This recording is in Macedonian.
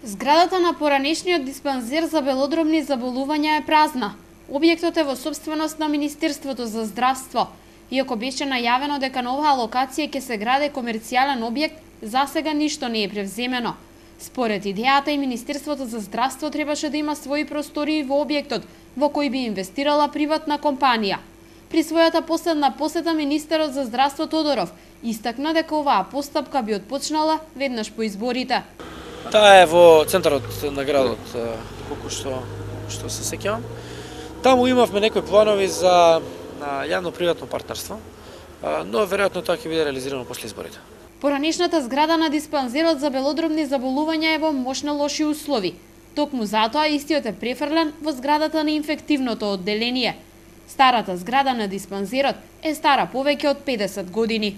Зградата на поранешниот диспанзер за белодробни заболувања е празна. Објектот е во сопственост на Министерството за здравство. Иако беше најавено дека на оваа локација ќе се гради комерцијален објект, засега ништо не е превземено. Според идејата и Министерството за здравство требаше да има своји простории во објектот, во кој би инвестирала приватна компанија. При својата последна посета министерот за здравство Тодоров истакна дека оваа постапка би отпочнала веднаш по изборите. Таа е во центарот на градот, колку што се сеќавам. Таму имавме некои планови за јавно-приватно партнерство, но веројатно тоа ќе биде реализирано после изборите. Поранешната зграда на диспанзерот за белодробни заболувања е во мощно лоши услови. Токму затоа истиот е префрлен во зградата на инфективното одделение. Старата зграда на диспанзерот е стара повеќе од 50 години.